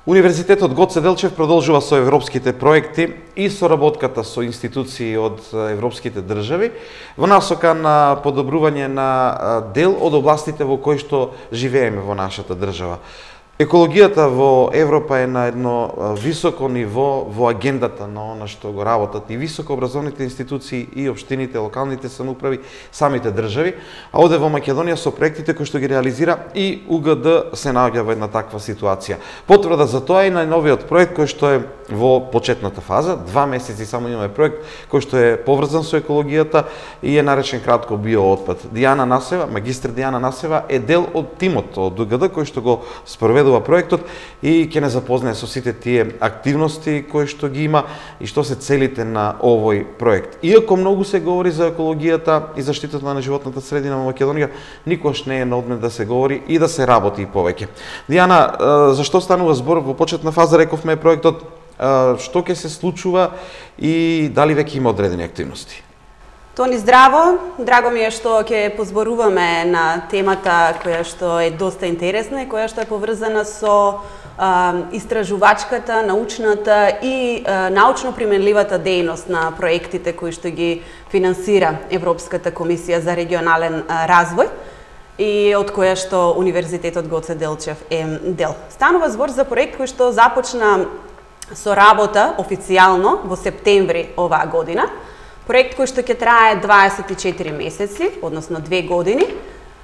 Универзитетот Гоце Делчев продолжува со европските проекти и соработката со институции од европските држави во насока на подобрување на дел од областите во кои што живееме во нашата држава. Екологијата во Европа е на едно високо ниво во агендата на она што го работат и високообразовните институции и општините, локалните самоуправи, самите држави, а оде во Македонија со проектите кои што ги реализира и УГД се наоѓа во една таква ситуација. Потврда за тоа е најновиот проект кој што е во почетната фаза, 2 месеци само имаме проект кој што е поврзан со екологијата и е наречен кратко биоотпад. Дијана Насева, магистр Дијана Насева е дел од тимот од УГД кој што го спроведува проектот и ќе не запознае со сите тие активности кои што ги има и што се целите на овој проект. Иако многу се говори за екологијата и заштитата на животната средина во Македонија, никош не е на одмет да се говори и да се работи повеќе. Дијана, зашто станува збор во почетна фаза, рековме проектот, што ќе се случува и дали веќе има одредени активности? Тони, здраво! Драго ми е што ќе позборуваме на темата која што е доста интересна и која што е поврзана со истражувачката, научната и научно применливата дејност на проектите кои што ги финансира Европската комисија за регионален развој и од која што Универзитетот Гоце Делчев е дел. Станува збор за проект кој што започна со работа официјално во септември оваа година. Проект кој што ќе трае 24 месеци, односно 2 години.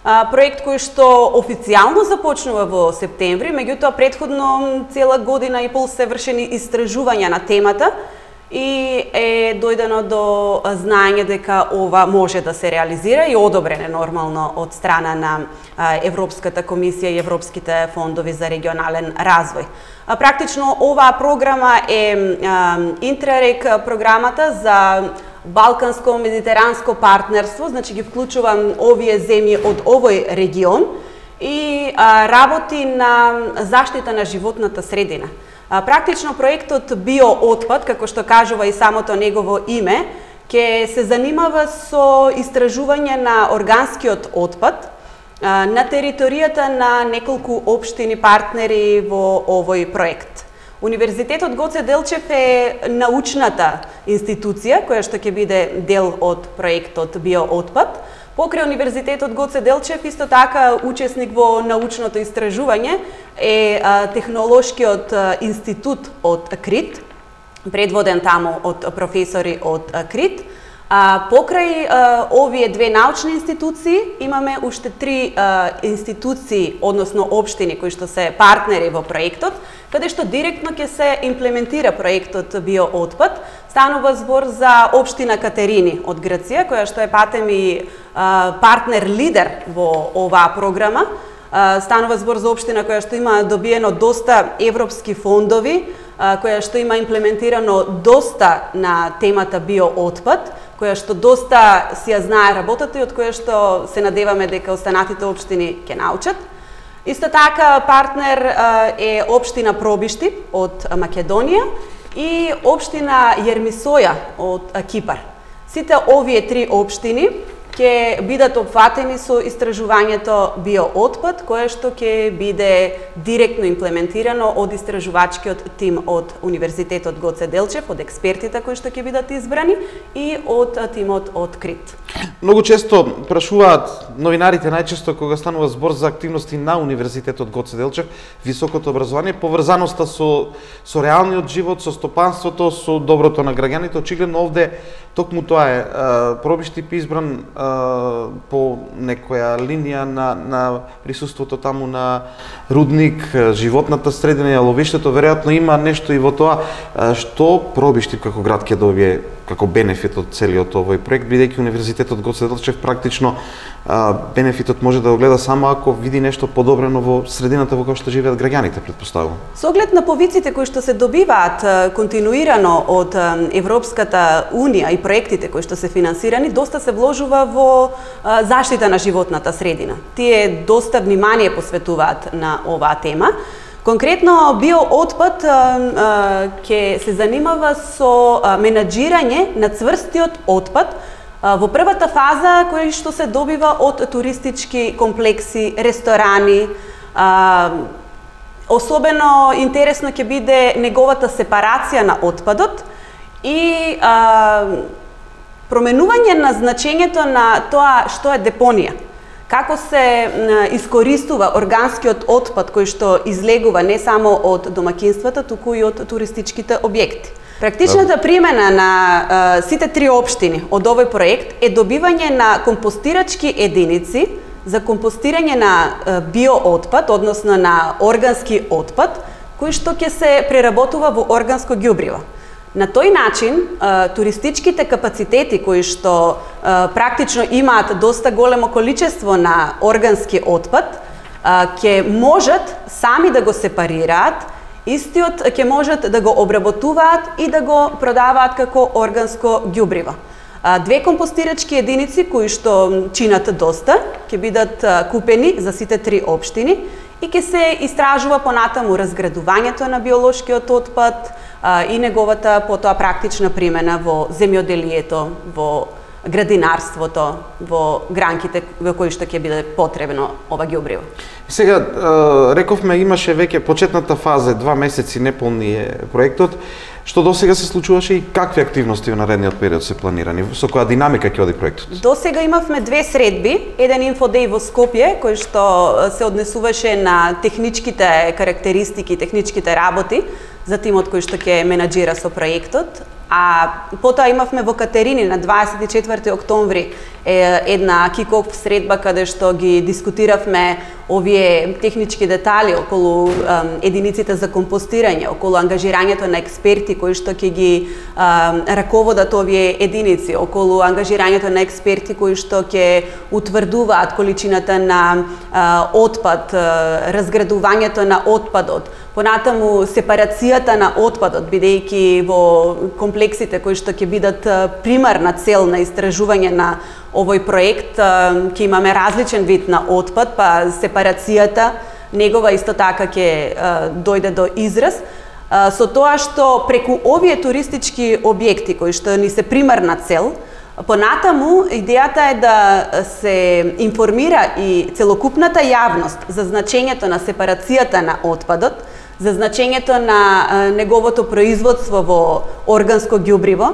Проект кој што официјално започнува во септември, меѓутоа претходно цела година и пол се вршени истражувања на темата и е дојдено до знаење дека ова може да се реализира и одобрене нормално од страна на Европската комисија и Европските фондови за регионален развој. Практично оваа програма е Интеррег програмата за Балканско-медитеранско партнерство, значи ги вклучува овие земји од овој регион и работи на заштита на животната средина. Практично проектот биоотпад, како што кажува и самото негово име, ќе се занимава со истражување на органскиот отпад на територијата на неколку општини партнери во овој проект. Универзитетот Гоце Делчев е научната институција која што ќе биде дел од проектот биоотпад. Покрај Универзитетот Гоце Делчев исто така учесник во научното истражување е Технолошкиот институт од КРИТ, предводен таму од професори од КРИТ. Покрај овие две научни институции имаме уште 3 институции, односно општини кои што се партнери во проектот, каде што директно ќе се имплементира проектот биоотпад. Станува збор за општина Катерини од Грција, која што е патем и партнер лидер во оваа програма. Станува збор за општина која што има добиено доста европски фондови, која што има имплементирано доста на темата биоотпад, која што доста си ја знае работата и од која што се надеваме дека останатите општини ќе научат. Исто така партнер е општина Пробишти од Македонија и општина Јермисоја од Кипар. Сите овие 3 општини ќе бидат опфатени со истражувањето биоотпад, кое што ќе биде директно имплементирано од истражувачкиот тим од Универзитетот Гоце Делчев, од експертите кои што ќе бидат избрани и од тимот од КРИТ. Многу често прашуваат новинарите, најчесто кога станува збор за активности на Универзитетот Гоце Делчев, високото образование, поврзаноста со реалниот живот, со стопанството, со доброто на граѓаните. Очигледно овде токму тоа е. Пробишти избран по некоја линија на присуството таму на рудник, животната средина и ловиштето, веројатно има нешто и во тоа што Пробишти како град ќе добие како бенефит од целиот овој проект, бидејќи Универзитетот Гоце Делчев практично бенефитот може да го гледа само ако види нешто подобрено во средината во која што живеат граѓаните, претпоставувам. Со оглед на повиците кои што се добиваат континуирано од Европската унија и проектите кои што се финансирани, доста се вложува во заштита на животната средина. Тие доста внимание посветуваат на оваа тема. Конкретно биоотпад ќе се занимава со менаџирање на цврстиот отпад во првата фаза кој што се добива од туристички комплекси, ресторани, особено интересно ќе биде неговата сепарација на отпадот и променување на значењето на тоа што е депонија. Како се искористува органскиот отпад кој што излегува не само од домаќинствата, туку и од туристичките објекти. Практичната примена на сите три општини од овој проект е добивање на компостирачки единици за компостирање на биоотпад, односно на органски отпад, кој што ќе се преработува во органско ѓубриво. На тој начин, туристичките капацитети кои што практично имаат доста големо количество на органски отпад, ќе можат сами да го сепарираат, истиот ќе можат да го обработуваат и да го продаваат како органско ѓубриво. Две компостирачки единици кои што чинат доста ќе бидат купени за сите три општини и ќе се истражува понатаму разградувањето на биолошкиот отпад и неговата потоа практична примена во земјоделието, во градинарството, во гранките во кои што ќе биде потребно ова ѓубриво. Сега, рековме, имаше веќе почетната фаза, 2 месеци неполни е проектот. Што досега се случуваше и какви активности во наредниот период се планирани? Со која динамика ќе оди проектот? Досега имавме 2 средби, еден инфодеј во Скопје, кој што се однесуваше на техничките карактеристики, техничките работи за тимот кој што ќе менаџира со проектот. А потоа имавме во Катерини на 24 октомври една кик-оф средба каде што ги дискутиравме овие технички детали околу единиците за компостирање, околу ангажирањето на експерти кои што ќе ги раководат овие единици, околу ангажирањето на експерти кои што ќе утврдуваат количината на отпад, разградувањето на отпадот, понатаму сепарацијата на отпадот, бидејќи во комплексите кои што ќе бидат примарна цел на истражување на овој проект ќе имаме различен вид на отпад, па сепарацијата негова исто така ќе дојде до израз, со тоа што преку овие туристички објекти кои што ни се примарна цел, понатаму идејата е да се информира и целокупната јавност за значењето на сепарацијата на отпадот, за значењето на неговото производство во органско ѓубриво,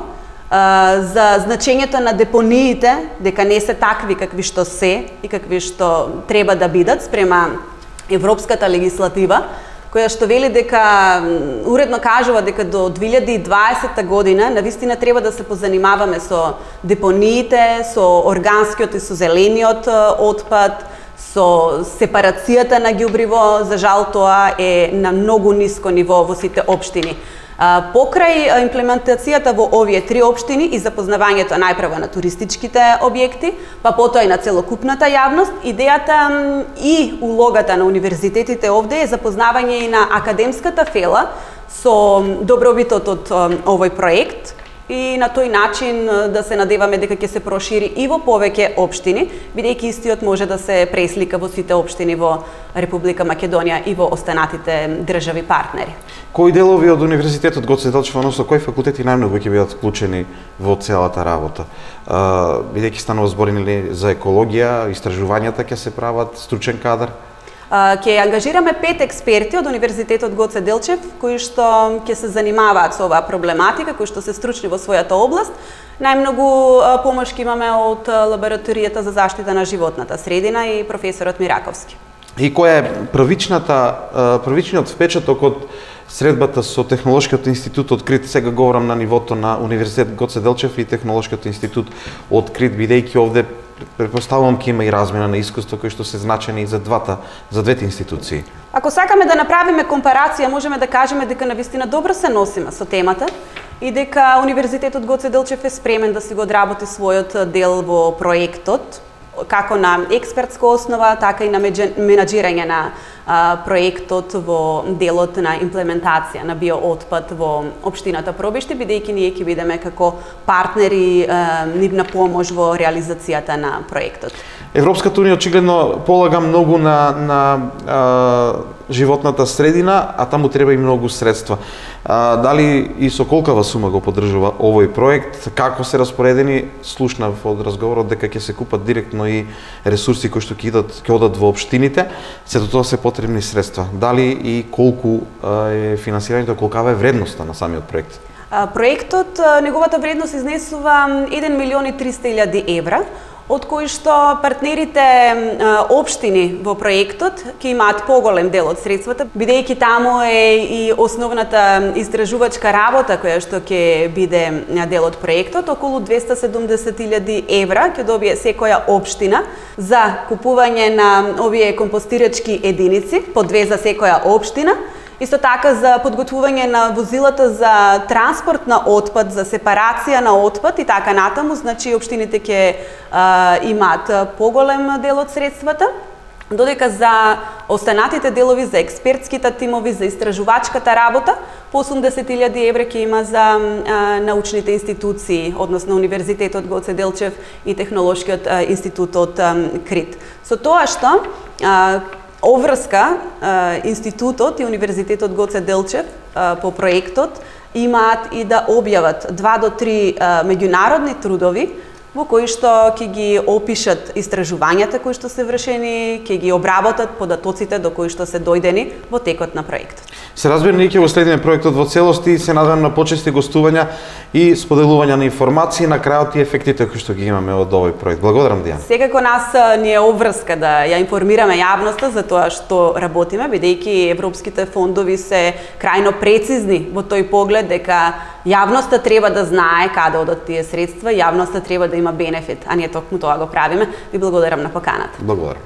за значењето на депониите, дека не се такви какви што се и какви што треба да бидат спрема европската легислатива, која што вели дека, уредно кажува дека до 2020 година навистина треба да се позанимаваме со депониите, со органскиот и со зелениот отпад, со сепарацијата на ѓубриво. За жал тоа е на многу ниско ниво во сите општини. Покрај имплементацијата во овие три општини и запознавањето најпрво на туристичките објекти, па потоа и на целокупната јавност, идејата и улогата на универзитетите овде е запознавање и на академската фела со добробитот од овој проект и на тој начин да се надеваме дека ќе се прошири и во повеќе општини, бидејќи истиот може да се преслика во сите општини во Република Македонија и во останатите држави партнери. Кои делови од Универзитетот Гоце Делчев, односно кои факултети најмногу ќе бидат вклучени во целата работа? Бидејќи станува збор за екологија, истражувањата ќе се прават, стручен кадар? Ќе ангажираме 5 експерти од Универзитетот Гоце Делчев, кои што ќе се занимаваат со оваа проблематика, кои што се стручни во својата област. Најмногу помош ќе имаме од Лабораторијата за заштита на животната средина и професорот Мираковски. И која е првичниот впечаток од средбата со Технолошкиот институт открит? Сега говорам на нивото на Универзитет Гоце Делчев и Технолошкиот институт открит, бидејќи овде претпоставувам ќе има и размена на искуство кои што се значени за двете институции. Ако сакаме да направиме компарација, можеме да кажеме дека навистина добро се носиме со темата и дека Универзитетот Гоце Делчев е спремен да си го одработи својот дел во проектот, како на експертска основа, така и на менаџирање на проектот во делот на имплементација на биоотпад во општината Пробишти, бидејќи ние ќе бидеме како партнери нивна помош во реализацијата на проектот. Европската унија очигледно полага многу на животната средина, а таму треба и многу средства. Дали и со колкава сума го поддржува овој проект, како се распоредени? Слушнав од разговорот дека ќе се купат директно и ресурси кои што ќе одат во општините, сето тоа се потребни средства. Дали и колку е финансирањето, колкава е вредноста на самиот проект? Проектот, неговата вредност изнесува 1.300.000 евра, од кои што партнерите општини во проектот ќе имаат поголем дел од средствата, бидејќи таму е и основната истражувачка работа која што ќе биде дел од проектот. Околу 270.000 евра ќе добие секоја општина за купување на овие компостирачки единици, по 2 за секоја општина. Исто така за подготвување на возилата за транспорт на отпад, за сепарација на отпад и така натаму, значи општините ќе имаат поголем дел од средствата, додека за останатите делови, за експертските тимови, за истражувачката работа, по 80.000 евра ќе има за научните институции, односно Универзитетот Гоце Делчев и Технолошкиот институт од Крит. Со тоа што оврска институтот и Универзитетот Гоце Делчев по проектот имаат и да објават 2 до 3 меѓународни трудови во кои што ќе ги опишат истражувањата кои што се вршени, ќе ги обработат податоците до кои што се дојдени во текот на проектот. Се разбира, ние ќе го следиме проектот во целост и се надевам на почести гостувања и споделување на информации на крајот и ефектите кои што ги имаме од овој проект. Благодарам, Дијана. Секако нас ни е обврска да ја информираме јавноста за тоа што работиме, бидејќи европските фондови се крајно прецизни во тој поглед дека јавноста треба да знае каде одат тие средства, јавноста треба да има бенефит, а ние токму тоа го правиме. Ви благодарам на поканата. Благодарам.